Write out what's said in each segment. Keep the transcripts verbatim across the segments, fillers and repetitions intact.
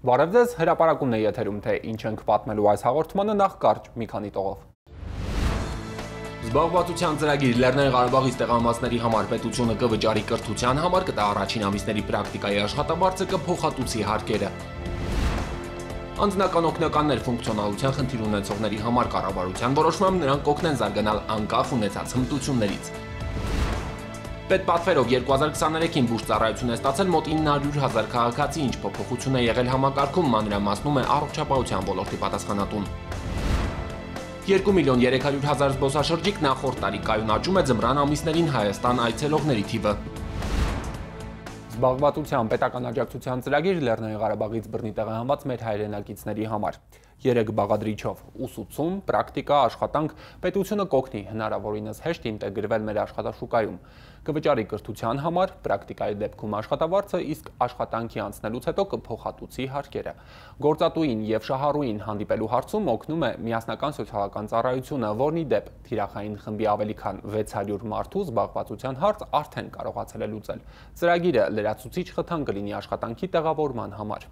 Բարև ձեզ, հրապարակումն է եթերում, թե ինչ ենք պատմելու այս հաղորդմանը, նախ կարճ մի քանի տողով։ Զբաղվածության ծրագիր Լեռնային Ղարաբաղից տեղամասների համար պետությունը կվճարի կրթության համար, կտա առաջին ամիսների պրակտիկայի աշխատավարձը, կփոխհատուցի հարկերը։ Անձնական օգնականներ ֆունկցիոնալության խնդիր ունեցողների համար կառավարության որոշմամբ նրանք կօգնեն զարգանալ անկախ ունեցած հմտություններից։ Պետպատվերով երկու հազար քսաներեքին բուժ ծառայություն է ստացել մոտ ինը հարյուր հազար քաղաքացի, ինչ փոփոխություն է եղել համակարգում, մանրամասնում է առողջապահության ոլորտի պատասխանատուն։ երկու միլիոն երեք հարյուր հազար զբոսաշրջիկ նախորդ տարի կայունաճում է ձմռան ամիսներին Հայաստան այցելողների թիվը։ Զբաղվածության պետական աջակցության ծրագիր Լեռնային Ղարաբաղից բռնի տեղահանված մեր հայրենակիցների համար։ Երեք բաղադրիչով ուսուցում, պրակտիկա, աշխատանք պետությունը կօգնի հնարավորինս հեշտ ինտեգրվել մեր աշխատաշուկայում։ Կվճարի կրթության համար, պրակտիկայի դեպքում աշխատավարձը, իսկ աշխատանքի անցնելուց հետո կփոխհատուցի հարկերը։ Գործատուին եւ շահառուին հանդիպելու հարցում օգնում է միասնական սոցիալական ծառայությունը, որն ի դեպ թիրախային խմբի ավելի քան վեց հարյուր մարդու զբաղվածության հարց արդեն կարողացել է լուծել։ Ծրագիրը լրացուցիչ խթան կլինի աշխատանքի տեղավորման համար։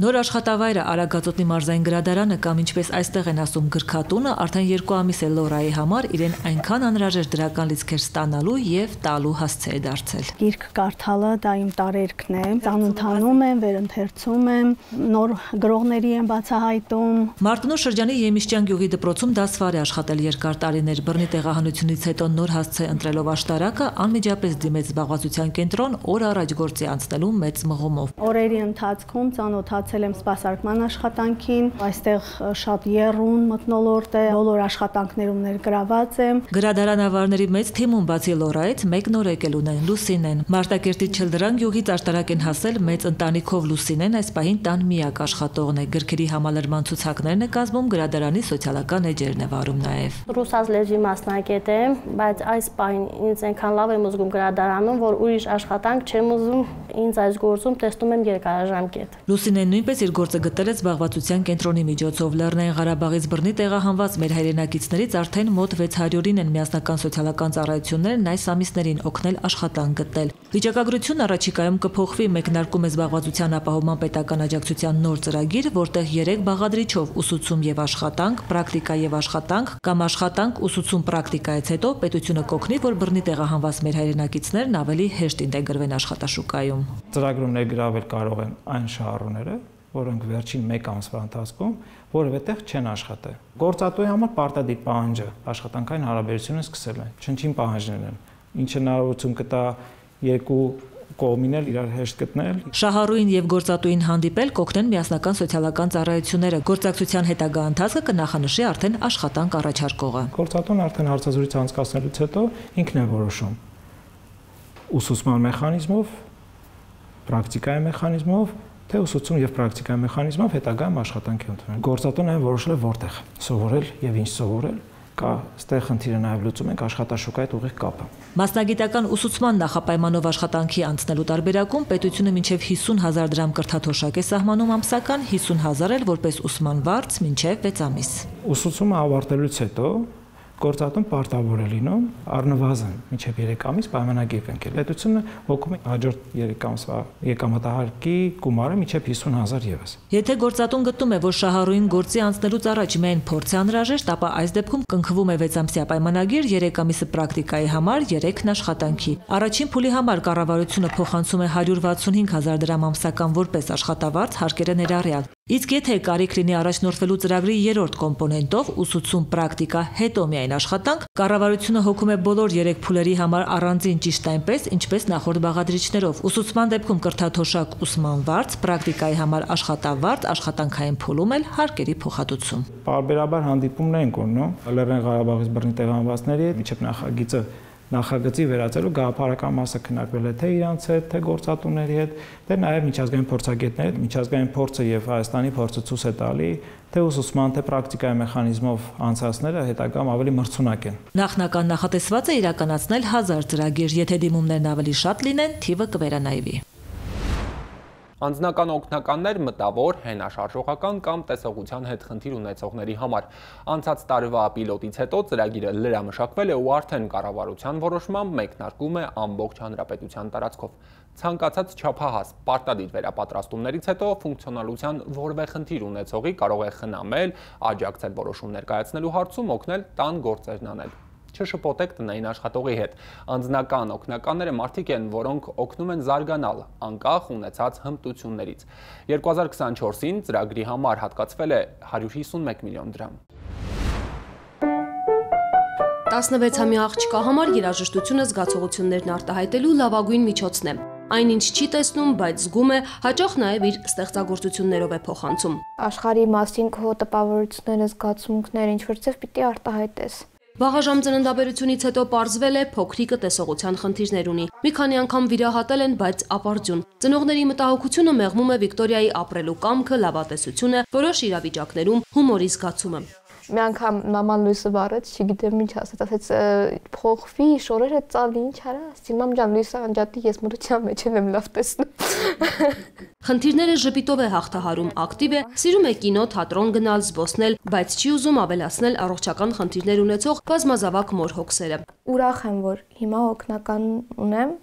Նոր աշխատավայրը Արագածոտնի մարզային գրադարանը կամ ինչպես այստեղ են ասում գրքատունը արդեն երկու ամիս է Լորայի համար իրեն այնքան անհրաժեշտ դրական լիցքեր ստանալու եւ տալու հասցե է դարձել։ Գիրք կարդալը դա իմ տարերքն է, ծանոթանում եմ, վերընթերցում եմ, նոր գրողների եմ բացահայտում։ Մարտունու շրջանի Եմիշճյան գյուղի դպրոցում դասվար է աշխատել երկար տարիներ, բռնի տեղահանությունից հետո նոր հասցե ընտրելով աշտարակը անմիջապես դիմեց զբաղվածության կենտրոն օր առաջ գործի անցնելու մեծ մղումով։ Օրերի ընթացքում ծանոթացել եմ սպասարկման աշխատանքին, այստեղ շատ եռուն մթնոլորտ է, բոլոր աշխատանքներում ներգրաված եմ։ Գրադարանավարների մեծ թիմում բացի Լորայից մեկ նոր եկել ունեն Լուսինեն։ Մարտակերտի Չլդրան գյուղից աշտարակ են հասել մեծ ընտանիքով Լուսինեն այս պահին տան միակ աշխատողն է։ Գրքերի համալրման ցուցակներն է կազմում, գրադարանի սոցիալական էջերն է վարում նաև։ Ռուսաց լեզվի մասնակետ եմ, բայց այս պահին ինձ այնքան լավ եմ զգում գրադարանում, որ ուրիշ աշխատանք չեմ ուզում, ինձ այս գործում տեսնում եմ երկարաժամկետ։ Լուսինեն նույնպես իր գործը գտել է զբաղվածության կենտրոնի միջոցով։ Լեռնային Ղարաբաղից բռնի տեղահանված մեր հայրենակիցներից արդեն մոտ վեց հարյուրին են միասնական սոցիալական ծառայություններն այս ամիսներին օգնել աշխատանք գտնել։ Վիճակագրությունն առաջիկայում կփոխվի, մեկնարկում է զբաղվածության ապահովման պետական աջակցության նոր ծրագիր, որտեղ երեք բաղադրիչով ուսուցում եւ աշխատանք, պրակտիկա եւ աշխատանք կամ աշխատանք, ուսուցում, պրակտիկայից հետո պետությունը կօգնի, որ բռնի տեղահանված մեր հայրենակիցներն ավելի հեշտ ինտեգրվեն աշխատաշուկայում։ Ծրագրում ներգրավել կարող են այն շահառուները, որոնք վերջին մեկ ամսվա ընթացքում որևէ տեղ չեն աշխատել։ Գործատուի համար պարտադիր պահանջը աշխատանքային հարաբերությունը սկսել են, չնչին պահանջներ են, ինչը հնարավորություն կտա երկու կողմին էլ իրար հեշտ գտնել։ Շահառուին եւ գործատուին հանդիպել կօգնեն միասնական սոցիալական ծառայությունները։ Գործակցության հետագա ընթացքը կնախանշի արդեն աշխատանք առաջարկողը։ Գործատուն արդեն հարցազրույց անցկացնելուց հետո ինքն է որոշում ուսուցման մեխանիզմով, պրակտիկայի մեխանիզմով, թե ուսուցում եւ պրակտիկայի մեխանիզմով հետագայում աշխատանքի ընդունել։ Գործատունը որոշել է որտեղ սովորել եւ ինչ սովորել, կա ստեղ խնդիրը նաեւ լուծում ենք աշխատաշուկայի հետ ուղիղ կապը։ Մասնագիտական ուսուցման նախապայմանով աշխատանքի անցնելու տարբերակում պետությունը մինչև հիսուն հազար դրամ կրթաթոշակ է սահմանում ամսական, հիսուն հազար էլ որպես ուսման վարձ մինչև վեց ամիս։ Ուսուցումը ավարտելուց հետո գործատուն պարտավոր է լինում առնվազն մինչև երեք ամիս պայմանագիր կնքել։ Պետությունը հոգում է հաջորդ երեք ամսվա եկամտահարկի գումարը մինչև հիսուն հազար ևս։ Եթե գործատուն գտնում է, որ շահառուին գործի անցնելուց առաջ միայն փորձ է անհրաժեշտ, ապա այս դեպքում կնքվում է վեց ամսյա պայմանագիր, երեք ամիսը պրակտիկայի համար, երեքն աշխատանքի։ Առաջին փուլի համար կառավարությունը փոխանցում է հարյուր վաթսունհինգ հազար դրամ ամսական որպես աշխատավարձ հարկերը ներառյալ։ Իսկ եթե կարիք լինի առաջնորդվելու ծրագրի երրորդ կոմպոնենտով ուսուցում, պրակտիկա, հետո միայն աշխատանք, կառավարությունը հոգում է բոլոր երեք փուլերի համար առանձին ճիշտ այնպես, ինչպես նախորդ բաղադրիչներով։ Ուսուցման դեպքում կրթաթոշակ ուսման վարձ, պրակտիկայի համար աշխատավարձ, աշխատանքային փուլում էլ հարկերի փոխհատուցում։ Պարբերաբար հանդիպումներ են կորնում Լեռնային Ղարաբաղից բռնի տեղահանվածների հետ, միջև նախագիծը նախագծի վերածելու գաղափարական մասը քննարկվել է թե իրանց հետ, թե գործատուների հետ, թե նաև միջազգային փորձագետների հետ։ Միջազգային փորձը եւ Հայաստանի փորձը ցույց է տալի, թե ուսուցման, թե պրակտիկայի մեխանիզմով անցածները հետագայում ավելի մրցունակ են։ Նախնական նախատեսված է իրականացնել հազար ծրագիր, եթե դիմումներն ավելի շատ լինեն, թիվը կվերանայվի։ Անձնական օգնականներ մտավոր, հենաշարժողական կամ տեսողության հետ խնդիր ունեցողների համար։ Անցած տարվա պիլոտից հետո ծրագիրը լրամշակվել է ու արդեն կառավարության որոշմամբ մեկնարկում է ամբողջ հանրապետության տարածքով։ Ցանկացած չափահաս պարտադիր վերապատրաստումներից հետո ֆունկցիոնալության որևէ խնդիր ունեցողի կարող է խնամել, աջակցել որոշում ներկայացնելու հարցում, օգնել տան գործերն անել։ Չշփոթեք տնային աշխատողի հետ։ Անձնական օգնականները մարդիկ են, որոնք օգնում են զարգանալ, անկախ ունեցած հմտություններից։ երկու հազար քսանչորսին ծրագրի համար հատկացվել է հարյուր հիսունմեկ միլիոն դրամ։ տասնվեցամյա աղջկա համար երաժշտությունը զգացողություններն արտահայտելու լավագույն միջոցն է։ Այնինչ չի տեսնում, բայց զգում է, հաճախ նաև իր ստեղծագործություններով է փոխանցում։ Աշխարհի մասին քո տպավորությունները, զգացմունքները ինչ-որ ձև պիտի արտահայտես։ Վաղաժամ ծննդաբերությունից հետո պարզվել է փոքրիկը տեսողության խնդիրներ ունի։ Մի քանի անգամ վիրահատել են, բայց ապարդյուն։ Ծնողների մտահոգությունը մեղմում է Վիկտորիայի ապրելու կամքը, լավատեսությունը, որոշ իրավիճակներում հումորի զգացումը։ Մի անգամ մաման լույսը վառեց, չգիտեմ ինչ ասեց, ասեց փոխվի, շորերը ծալի, ինչ արա, ասի մամ ջան, լույսը անջատի, ես մրության մեջ եմ լավ տեսնում։ Խնդիրները ժպիտով է հաղթահարում, ակտիվ է, սիրում է կինո, թատրոն գնալ, զբոսնել, բայց չի ուզում ավելացնել առողջական խնդիրներ ունեցող բազմազավակ մոր հոգսերը։ Ուրախ եմ, որ հիմա օգնական ունեմ,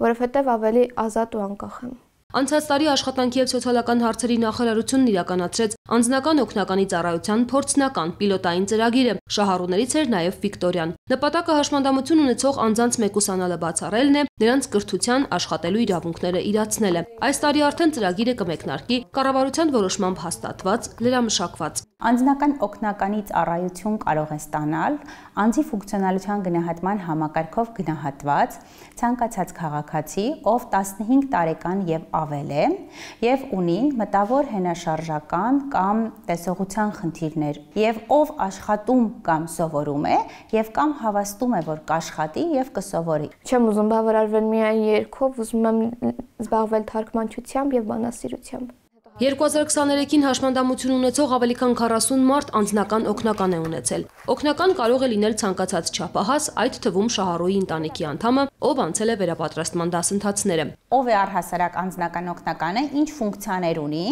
որովհետև ավելի ազատ ու անկախ եմ։ Անցած տարի աշխատանքի և սոցիալական հարցերի նախարարությունն իրականացրեց անձնական օգնականի ծառայության փորձնական պիլոտային ծրագիրը, շահառուներից էր նաև Վիկտորիան։ Նպատակը հաշմանդամություն ունեցող անձանց մեկուսանալը բացառելն է, նրանց կրթության, աշխատելու իրավունքները իրացնելը։ Այս տարի արդեն ծրագիրը կմեկնարկի կառավարության որոշմամբ հաստատված, լրամշակված։ Անձնական օգնականի ծառայություն կարող է ստանալ անձի ֆունկցիոնալության գնահատման համակարգով գնահատված ցանկացած քաղաքացի, ով տասնհինգ տարեկան եւ ավել է եւ ունի մտավոր հենաշարժական կամ տեսողության խնդիրներ եւ ով աշխատում կամ սովորում է եւ կամ հավաստում է, որ կաշխատի եւ կսովորի։ Չեմ ուզում բավարարվել միայն երգով, ուզում եմ զբաղվել թարգմանչությամբ եւ բանասիրությամբ։ երկու հազար քսաներեքին հաշմանդամություն ունեցող ավելի քան քառասուն մարդ անձնական օգնական է ունեցել։ Օգնական կարող է լինել ցանկացած չափահաս, այդ թվում շահառուի ընտանիքի անդամը, ով անցել է վերապատրաստման դասընթացները։ Ով է առհասարակ անձնական օգնականը, ինչ ֆունկցիաներ ունի,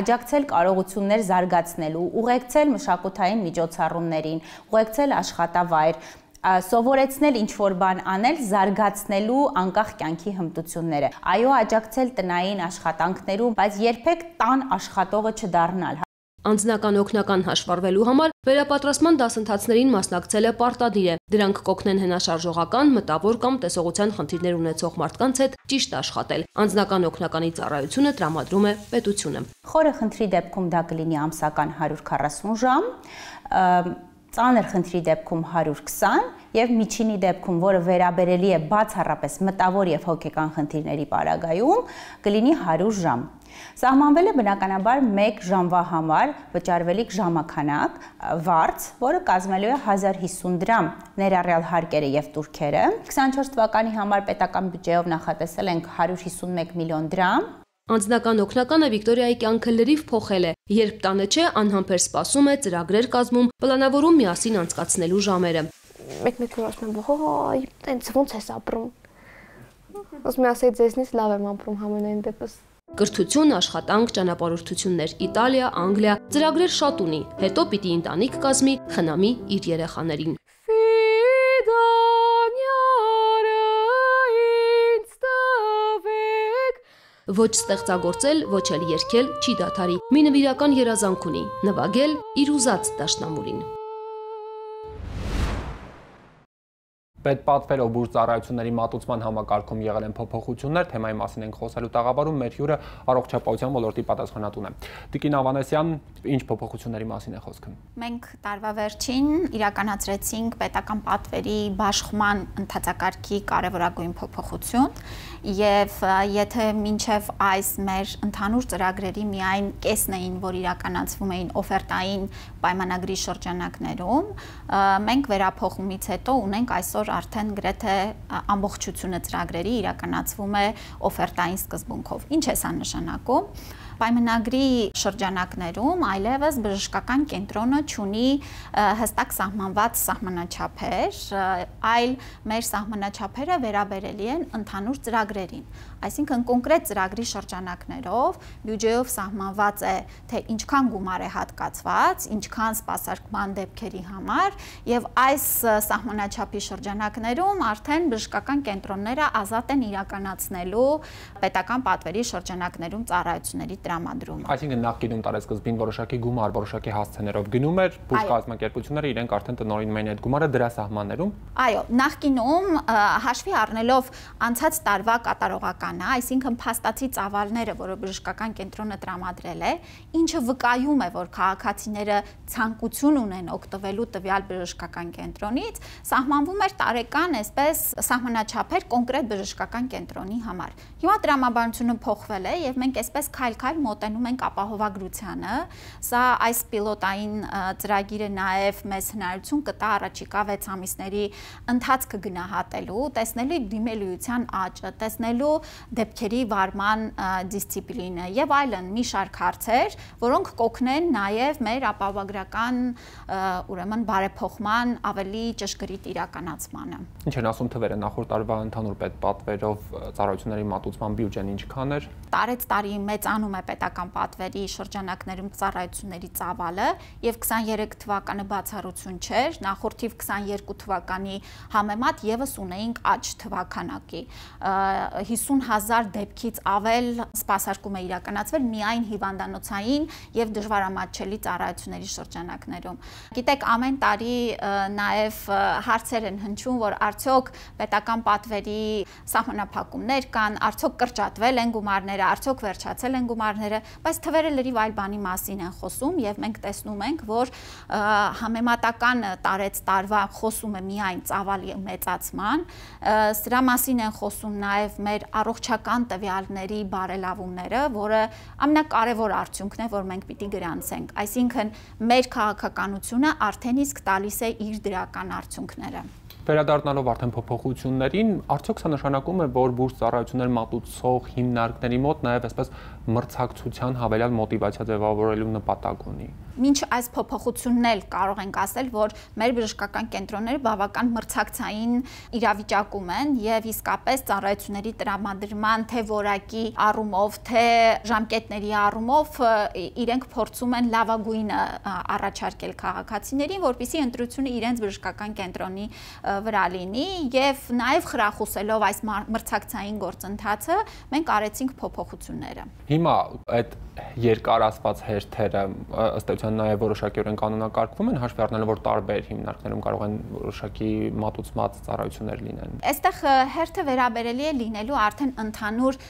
աջակցել կարողություններ զարգացնելու, ուղեկցել մշակութային միջոցառումներին, ուղեկցել աշխատավայր, սովորեցնել ինչ-որ բան անել, զարգացնելու անկախ կյանքի հմտությունները։ Այո, աջակցել տնային աշխատանքներում, բայց երբեք տան աշխատողը չդառնալ։ Անձնական օգնական հաշվառվելու համար վերապատրաստման դասընթացներին մասնակցելը պարտադիր է։ Դրանք կօգնեն հենաշարժողական, մտավոր կամ տեսողության խնդիրներ ունեցող մարդկանց հետ ճիշտ աշխատել։ Անձնական օգնականի ծառայությունը տրամադրում է պետությունը։ Խորը խնդրի դեպքում դա կլինի ամսական հարյուր քառասուն ժամ, ծանր խնդրի դեպքում հարյուր քսան եւ միջինի դեպքում, որը վերաբերելի է բացառապես մտավոր եւ հոգեկան խնդիրների պարագայում, կլինի հարյուր ժամ։ Սահմանվել է բնականաբար մեկ ժամվա համար վճարվելիք ժամականակ վարձ, որը կազմելու է հազար հիսուն դրամ, ներառյալ հարկերը եւ տուրքերը։ քսանչորս թվականի համար պետական բյուջեով նախատեսել ենք հարյուր հիսունմեկ միլիոն դրամ։ Անձնական օգնականը Վիկտորիայի կյանքը լրիվ փոխել է, երբ տանը չէ, անհամբեր սպասում է, ծրագրեր կազմում, պլանավորում միասին անցկացնելու ժամերը։ Մեկ-մեկ որ ասում եմ, «Ոյ, տենց ոնց ես ապրում»։ Ասում եմ, ասեի ձեզնից լավ եմ ապրում համենայն դեպս։ Կրթություն, աշխատանք, ճանապարհորդություններ, Իտալիա, Անգլիա, ծրագրեր շատ ունի, հետո պիտի ընտանիք կազմի, խնամի իր երեխաներին։ Ոչ ստեղծագործել, ոչ էլ երգել չի դադարի։ Մի նվիրական երազանք ունի՝ նվագել իր ուզած դաշնամուրին։ Պետպատվերով բուժ ծառայությունների մատուցման համակարգում եղել են փոփոխություններ, թեմայի մասին ենք խոսելու տաղավարում, մեր հյուրը առողջապահության ոլորտի պատասխանատուն է։ Տիկին Ավանեսյան, ինչ փոփոխությունների մասին է խոսքը։ Մենք տարվա վերջին իրականացրեցինք պետական պատվերի բաշխման ընթացակարգի կարևորագույն փոփոխություն եւ եթե մինչեւ այս մեր ընդհանուր ծրագրերի միայն կեսն էին, որ իրականացվում էին օֆերտային պայմանագրի շրջանակներում, մենք վերափոխումից հետո ունենք այսօր արդեն գրեթե ամբողջությունը ծրագրերի իրականացվում է օֆերտային սկզբունքով։ Ինչ է սա նշանակում։ Պայմանագրի շրջանակներում այլևս բժշկական կենտրոնը չունի հստակ սահմանված սահմանաչափեր, այլ մեր սահմանաչափերը վերաբերելի են ընդհանուր ծրագրերին։ ծրագրերին։ Այսինքն կոնկրետ ծրագրի շրջանակներով բյուջեով սահմանված է, թե ինչքան գումար է հատկացված, ինչքան սպասարկման դեպքերի համար, եւ այս սահմանաչափի շրջանակներում արդեն բժշկական կենտրոնները ազատ են իրականացնելու պետական պատվերի շրջանակներում ծառայությունների տրամադրումը։ Այսինքն նախկինում տարեսկզբին որոշակի գումար, որոշակի հասցեներով գնում էր, բուժ կազմակերպությունները իրենք արդեն տնօրինում էին այդ գումարը դրա սահմաններում։ Այո, նախկինում հաշվի առնելով անցած տարվա կատարողականը, այսինքն փաստացի ծավալները, որը բժշկական կենտրոնը տրամադրել է, ինչը վկայում է, որ քաղաքացիները ցանկություն ունեն օգտվելու տվյալ բժշկական կենտրոնից, սահմանվում էր տարեկան այսպես սահմանաչափեր կոնկրետ բժշկական կենտրոնի համար։ Հիմա տրամաբանությունը փոխվել է եւ մենք այսպես քայլ-քայլ մոտենում ենք ապահովագրությանը։ Սա այս պիլոտային ծրագիրը նաեւ մեզ հնարավորություն կտա առաջիկա վեց ամիսների ընթացքը գնահատելու, տեսնելու դիմելիության աճը, տեսնելու դեպքերի վարման դիսցիպլինը եւ այլն մի շարք հարցեր, որոնք կօգնեն նաեւ մեր ապահովագրական ուրեմն բարեփոխման ավելի ճշգրիտ իրականացմանը։ Ինչ են ասում թվերը նախորդ տարվա ընդհանուր պետպատվերով ծառայությունների մատուցման բյուջեն ինչքան էր։ Տարեց տարի մեծանում է պետական պատվերի շրջանակներում ծառայությունների ծավալը եւ քսաներեք թվականը բացառություն չէր, նախորդիվ քսաներկու թվականի համեմատ եւս ունեինք աճ թվականակի։ հիսուն հազար դեպքից ավել սպասարկում է իրականացվել միայն հիվանդանոցային եւ դժվարամատչելի ծառայությունների շրջանակներում։ Գիտեք, ամեն տարի նաեւ հարցեր են հնչում, որ արդյոք պետական պատվերի սահմանափակումներ կան, արդյոք կրճատվել են գումարները, արդյոք վերջացել են գումարները, բայց թվերը լրիվ այլ բանի մասին են խոսում եւ մենք տեսնում ենք, որ համեմատական տարեց տարվա խոսում է միայն ծավալի մեծացման, սրա մասին են խոսում նաեւ մեր առողջական տվյալների բարելավումները, որը ամենակարևոր արդյունքն է, որ մենք պիտի գրանցենք, այսինքն մեր քաղաքականությունը արդեն իսկ տալիս է իր դրական արդյունքները։ Վերադառնալով արդեն փոփոխություններին, արդյոք սա նշանակում է, որ բուրս ծառայություններ մատուցող հիմնարկների մոտ նաև այսպես մրցակցության հավելյալ մոտիվացիա ձևավորելու նպատակ ունի։ Մինչ այս փոփոխությունն էլ կարող ենք ասել, որ մեր բժշկական կենտրոնները բավական մրցակցային իրավիճակում են եւ իսկապես ծառայությունների տրամադրման թե որակի առումով, թե ժամկետների առումով իրենք փորձում են լավագույնը առաջարկել քաղաքացիներին, որպեսզի ընտրությունը իրենց բժշկական կենտրոնի վրա լինի եւ նաեւ խրախուսելով այս մրցակցային գործընթացը մենք արեցինք փոփոխությունները։ Հիմա այդ երկար ասված հերթերը ըստ էության նաեւ որոշակիորեն կանոնակարգվում են, հաշվի առնելով որ տարբեր հիմնարկներում կարող են որոշակի մատուցված ծառայություններ լինեն։ Այստեղ հերթը վերաբերելի է լինելու արդեն ընդհանուր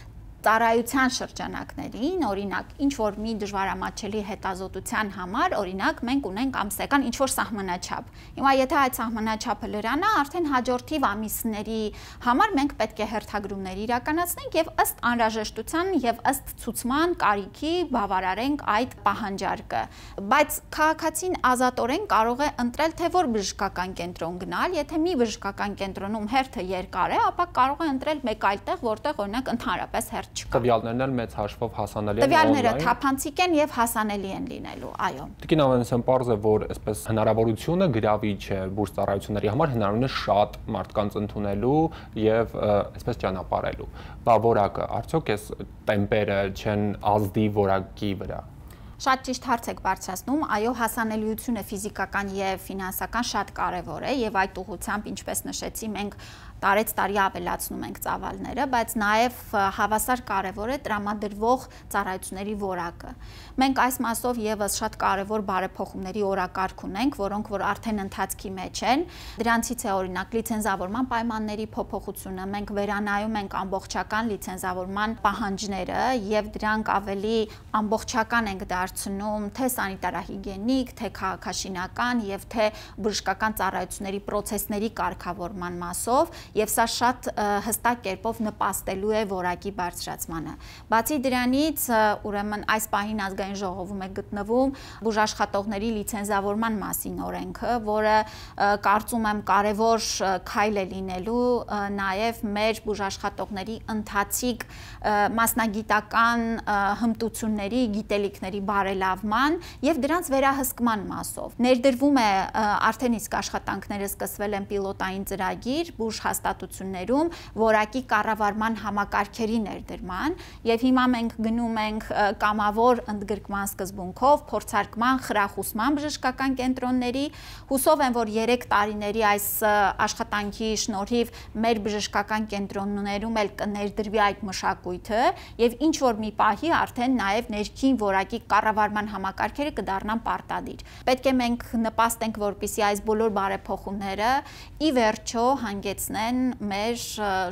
ծառայության շրջանակներին, օրինակ, ինչ որ մի դժվարամատչելի հետազոտության համար, օրինակ, մենք ունենք ամսական ինչ որ սահմանաչափ։ Հիմա եթե այդ սահմանաչափը լրանա, արդեն հաջորդիվ ամիսների համար մենք պետք է հերթագրումներ իրականացնենք եւ ըստ անհրաժեշտության եւ ըստ ցուցման կարիքի բավարարենք այդ պահանջարկը։ Բայց քաղաքացին ազատորեն կարող է ընտրել թե որ բժշկական կենտրոն գնալ, եթե մի բժշկական կենտրոնում հերթը երկար է, ապա կարող է ընտրել մեկ այլ տեղ, որտեղ օրինակ ընդհանրապես հերթ Տվյալներն էլ մեծ հաշվով հասանելի են։ Տվյալները թափանցիկ են եւ հասանելի են լինելու, այո։ Տիկին Ավանեսյան, պարզ է, որ այսպես հնարավորությունը գրավիչ է բուրս ծառայությունների համար, հնարավորին է շատ մարդկանց ընդունելու եւ այսպես ճանապարհելու։ Բա որակը, արդյոք այս տեմպերը չեն ազդի որակի վրա։ Շատ ճիշտ հարց եք բարձրացնում, այո, հասանելիությունը ֆիզիկական եւ ֆինանսական շատ կարեւոր է եւ այդ ուղղությամբ, ինչպես նշեցի, մենք տարեց տարի ավելացնում ենք ծավալները, բայց նաև հավասար կարևոր է տրամադրվող ծառայությունների որակը։ Մենք այս մասով եւս շատ կարևոր բարեփոխումների օրակարգ ունենք, որոնք որ արդեն ընթացքի մեջ են։ Դրանցից է օրինակ լիցենզավորման պայմանների փոփոխությունը, մենք վերանայում ենք ամբողջական լիցենզավորման պահանջները եւ դրանք ավելի ամբողջական ենք դարձնում թե սանիտարահիգիենիկ, թե քաղաքաշինական եւ թե բժշկական ծառայությունների պրոցեսների կարգավորման մասով եւ սա շատ հստակ կերպով նպաստելու է որակի բարձրացմանը։ Բացի դրանից, ուրեմն այս պահին ազգային ժողովում է գտնվում բուժաշխատողների լիցենզավորման մասին օրենքը, որը կարծում եմ կարևոր քայլ է լինելու նաեւ մեր բուժաշխատողների ընթացիկ մասնագիտական հմտությունների, գիտելիքների բարելավման եւ դրանց վերահսկման մասով։ Ներդրվում է արդեն իսկ աշխատանքները սկսվել են պիլոտային ծրագիր բուժ հաստատություններում որակի կառավարման համակարգերի ներդրման, եւ հիմա մենք գնում ենք կամավոր ընդգրկման սկզբունքով փորձարկման, խրախուսման բժշկական կենտրոնների, հուսով եմ, որ երեք տարիների այս աշխատանքի շնորհիվ մեր բժշկական կենտրոններում էլ կներդրվի այդ մշակույթը եւ ինչ որ մի պահի արդեն նաեւ ներքին որակի կառավարման համակարգերը կդառնան պարտադիր։ Պետք է մենք նպաստենք, որպեսզի այս բոլոր բարեփոխումները ի վերջո հանգեցնեն մեր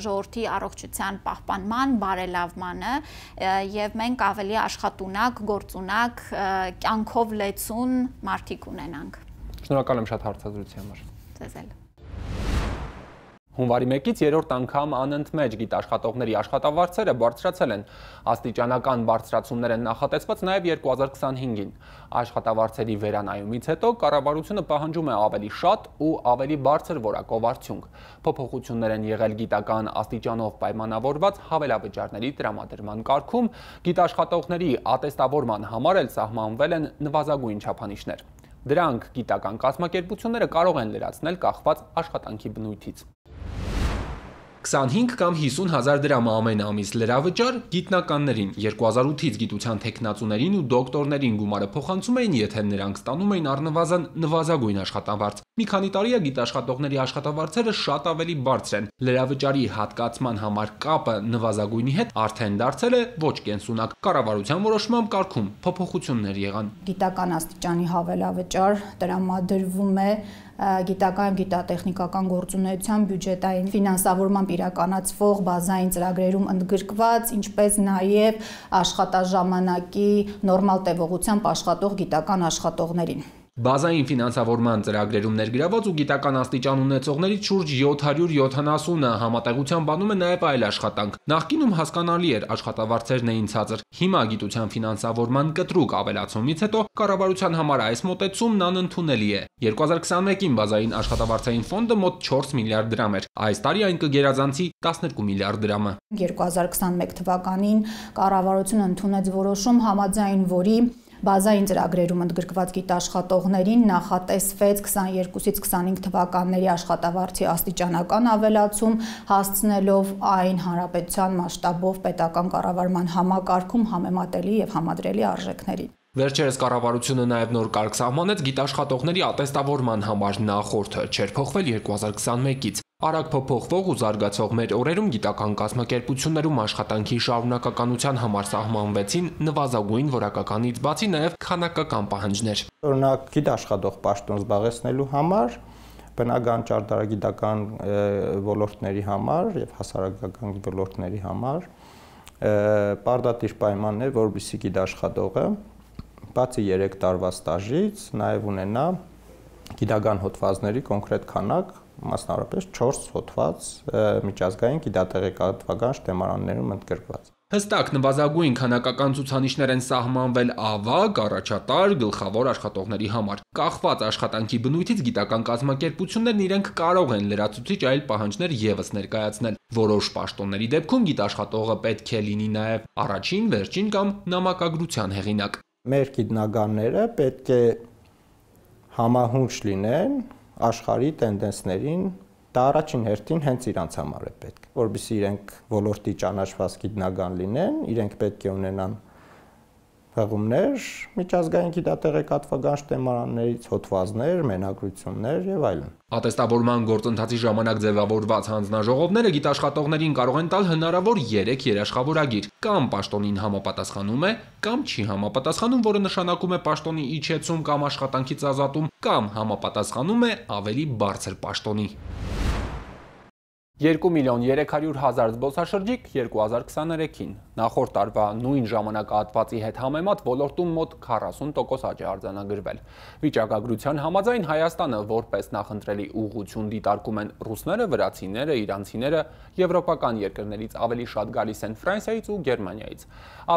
ժողովրդի առողջության պահպանման, բարելավմանը եւ մենք ավելի աշխատունակ, գործունակ, կյանքով լեցուն մարդիկ ունենանք։ Շնորհակալ եմ շատ հարցազրույցի համար։ Ձեզ էլ։ Հունվարի մեկից երրորդ անգամ անընդմեջ գիտաշխատողների աշխատավարձերը բարձրացել են։ Աստիճանական բարձրացումներ են նախատեսված նաև երկու հազար քսանհինգին։ Աշխատավարձերի վերանայումից հետո կառավարությունը պահանջում է ավելի շատ ու ավելի բարձր որակով արդյունք։ Փոփոխություններ են եղել գիտական աստիճանով պայմանավորված հավելավճարների տրամադրման կարգում, գիտաշխատողների ատեստավորման համար էլ սահմանվել են նվազագույն չափանիշներ։ Դրանք գիտական կազմակերպությունները կարող են լրացնել կախված աշխատանքի բնույթից։ քսանհինգ կամ հիսուն հազար դրամ ամեն ամիս լրավճար գիտնականներին, երկու հազար ութից գիտության թեկնածուներին ու դոկտորներին գումարը փոխանցում էին, եթե նրանք ստանում էին առնվազն նվազագույն աշխատավարձ։ Մի քանի տարի է գիտաշխատողների աշխատավարձերը շատ ավելի բարձր են։ Լրավճարի հատկացման համար կապը նվազագույնի հետ արդեն դարձել է ոչ կենսունակ։ Կառավարության որոշմամբ կարգում փոփոխություններ եղան։ Գիտական աստիճանի հավելավճար տրամադրվում է գիտական եւ գիտատեխնիկական գործունեության բյուջետային ֆինանսավորմամբ իրականացվող բազային ծրագրերում ընդգրկված, ինչպես նաեւ աշխատաժամանակի նորմալ տևողությամբ աշխատող գիտական աշխատողներին։ Բազային ֆինանսավորման ծրագրերում ներգրաված ու գիտական աստիճան ունեցողներից շուրջ յոթ հարյուր յոթանասունը համատեղության բանում է նաև այլ աշխատանք։ Նախկինում հասկանալի էր աշխատավարձերն էին ցածր։ Հիմա գիտության ֆինանսավորման կտրուկ ավելացումից հետո կառավարության համար այս մոտեցումն անընդունելի է։ երկու հազար քսանմեկին բազային աշխատավարձային ֆոնդը մոտ չորս միլիարդ դրամ էր։ Այս տարի այն կգերազանցի տասներկու միլիարդ դրամը։ երկու հազար քսանմեկ թվականին կառավարությունը ընդունեց որոշում, համաձայն որի բազային ծրագրերում ընդգրկված գիտաշխատողներին նախատեսվեց քսաներկուսից քսանհինգ թվականների աշխատավարձի աստիճանական ավելացում, հասցնելով այն հանրապետության մասշտաբով պետական կառավարման համակարգում համեմատելի եւ համադրելի արժեքներին։ Վերջերս կառավարությունը նաև նոր կարգ սահմանեց գիտաշխատողների ատեստավորման համար, նախորդը չէր փոխվել երկու հազար քսանմեկից։ Արագ փոփոխվող ու զարգացող մեր օրերում գիտական կազմակերպություններում աշխատանքի շարունակականության համար սահմանվեցին նվազագույն որակականից բացի նաև քանակական պահանջներ։ Օրինակ գիտաշխատող պաշտոն զբաղեցնելու համար, բնական ճարտարագիտական ոլորտների համար եւ հասարակական ոլորտների համար պարտադիր պայմանն է, որպեսզի գիտաշխատողը բացի երեք տարվա ստաժից նաև ունենա գիտական հոդվածների կոնկրետ քանակ, մասնավորապես չորս հոդված միջազգային գիտատեղեկատվական շտեմարաններում ընդգրկված։ Հստակ նվազագույն քանակական ցուցանիշներ են սահմանվել ավագ, առաջատար, գլխավոր աշխատողների համար։ Կախված աշխատանքի բնույթից գիտական կազմակերպություններն իրենք կարող են լրացուցիչ այլ պահանջներ եւս ներկայացնել։ Որոշ պաշտոնների դեպքում գիտաշխատողը պետք է լինի նաև առաջին, վերջին կամ նամակագրության հեղինակ։ Մեր գիտնականները պետք է համահունչ լինեն աշխարհի տենդենսներին, դա առաջին հերթին հենց իրանց համար է պետք, որովհետեւ իրենք ոլորտի ճանաչված գիտնական լինեն, իրենք պետք է ունենան հղումներ, միջազգային գիտատեղեկատվական շտեմարաններից, հոդվածներ, մենագրություններ եւ այլն։ Ատեստավորման գործընթացի ժամանակ ձևավորված հանձնաժողովները գիտաշխատողներին կարող են տալ հնարավոր երեք երաշխավորագիր, կամ պաշտոնին համապատասխանում է, կամ չի համապատասխանում, որը նշանակում է պաշտոնի իջեցում կամ աշխատանքից ազատում, կամ համապատասխանում է ավելի բարձր պաշտոնի։ երկու միլիոն երեք հարյուր հազար զբոսաշրջիկ երկու հազար քսաներեքին։ Նախորդ տարվա նույն ժամանակահատվածի հետ համեմատ ոլորտում մոտ քառասուն տոկոս աճ է արձանագրվել։ Վիճակագրության համաձայն Հայաստանը որպես նախընտրելի ուղղություն դիտարկում են ռուսները, վրացիները, իրանցիները, եվրոպական երկրներից ավելի շատ գալիս են Ֆրանսիայից ու Գերմանիայից։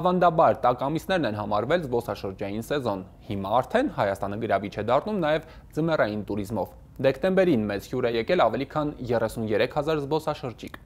Ավանդաբար տաք ամիսներն են համարվել զբոսաշրջային սեզոն։ Հիմա արդեն Հայաստանը գրավիչ է դառնում նաև ձմեռային туриզմով։ Դեկտեմբերին մեծ հյուր է եկել ավելի քան երեսունյերեք հազար զբոսաշրջիկ։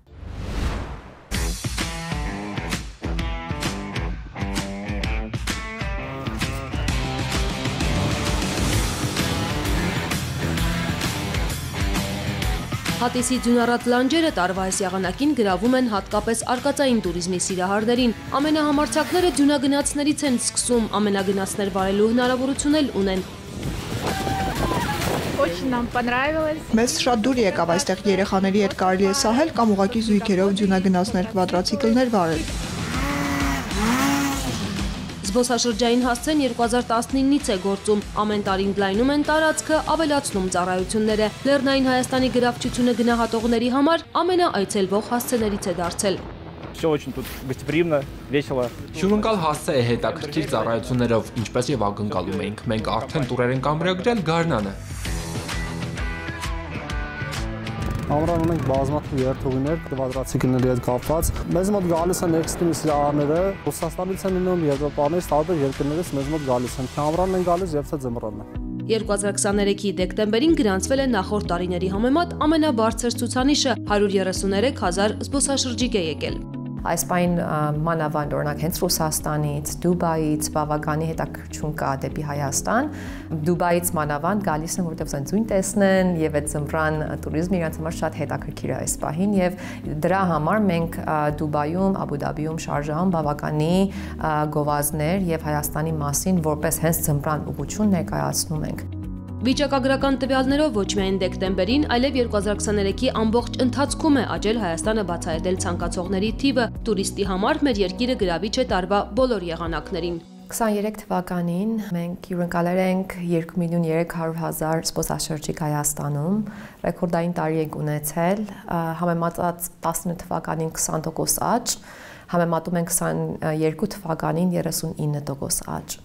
Հատիսի ձյունառատ լանջերը տարվա այս եղանակին գրավում են հատկապես արկածային туриզմի սիրահարներին։ Ամենահամարձակները ձյունագնացներից են սկսում, ամենագնացներ վարելու հնարավորություն էլ ունեն։ Մեզ շատ դուր եկավ այստեղ երեխաների հետ կարելի է սահել կամ ուղղակի զույգերով ձյունագնացներ, կվադրացիկլներ վարել։ Զբոսաշրջային հասցեն երկու հազար տասնինից է գործում, ամեն տարի ընդլայնում են տարածքը, ավելացնում ծառայությունները։ Լեռնային Հայաստանի գրավչությունը գնահատողների համար ամենաայցելվող հասցեներից է դարձել։ Հյուրընկալ հասցե է հետաքրքիր ծառայություններով, ինչպես եւ ակնկալում էինք։ Մենք արդեն տուրեր ենք ամրագրել Գարնանը։ Ամռան ունենք բազմաթիվ երթուղիներ, կվադրացիկլների հետ կապված։ Մեզ մոտ գալիս են էքստրիմ սիրահարները, Ռուսաստանից են լինում, Եվրոպաներից, տարբեր երկրներից մեզ մոտ գալիս են։ Թե ամռանն են գալիս, եւ թե ձմռանը։ երկու հազար քսաներեքի դեկտեմբերին գրանցվել է նախորդ տարիների համեմատ ամենաբարձր ցուցանիշը՝ հարյուր երեսուներեք հազար զբոսաշրջիկ է եկել։ Այս պայն մանավանդ օրինակ հենց Ռուսաստանից, Դուբայից բավականի հետաքրքրություն կա դեպի Հայաստան։ Դուբայից մանավանդ գալիս են, որտեղ զեն ձույն տեսնեն եւ այդ ձմռան туриզմը իրենց համար շատ հետաքրքիր է այս պահին եւ դրա համար մենք Դուբայում, Աբու Դաբիում, Շարժահում բավականի գովազդներ եւ Հայաստանի մասին որպես հենց ձմռան ուղղություն ներկայացնում ենք։ Վիճակագրական տվյալներով ոչ միայն դեկտեմբերին, այլև երկու հազար քսաներեքի ամբողջ ընթացքում է աճել Հայաստանը բացահայտել ցանկացողների թիվը։ Տուրիստի համար մեր երկիրը գրավիչ է տարվա բոլոր եղանակներին։ քսաներեք թվականին մենք հյուրընկալել ենք երկու միլիոն երեք հարյուր հազար զբոսաշրջիկ Հայաստանում, ռեկորդային տարի ենք ունեցել, համեմատած տասնինը թվականին քսան տոկոս աճ, համեմատում ենք քսաներկու թվականին երեսունինը տոկոս աճ։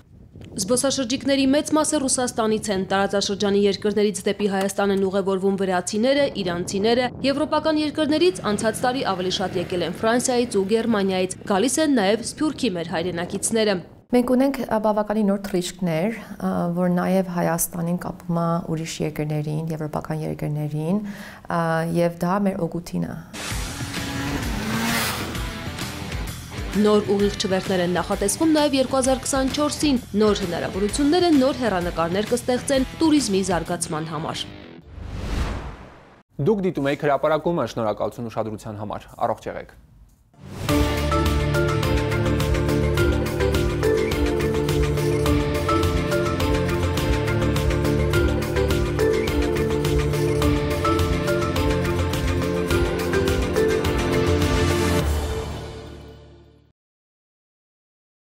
Զբոսաշրջիկների մեծ մասը Ռուսաստանից են, տարածաշրջանի երկրներից դեպի Հայաստան են ուղևորվում վրացիները, իրանցիները, եվրոպական երկրներից անցած տարի ավելի շատ եկել են Ֆրանսիայից ու Գերմանիայից, գալիս են նաև Սփյուռքի մեր հայրենակիցները։ Մենք ունենք բավականի նոր թռիչքներ, որ նաև Հայաստանին կապում է ուրիշ երկրներին, եվրոպական երկրներին, եւ դա մեր օգուտին է։ Նոր ուղիղ չվերթներ են նախատեսվում նաև երկու հազար քսանչորսին, նոր հնարավորություններ են, նոր հեռանկարներ կստեղծեն туриզմի զարգացման համար։ Դուք դիտում եք հրապարակումը, շնորհակալություն ուշադրության համար, առողջ եղեք։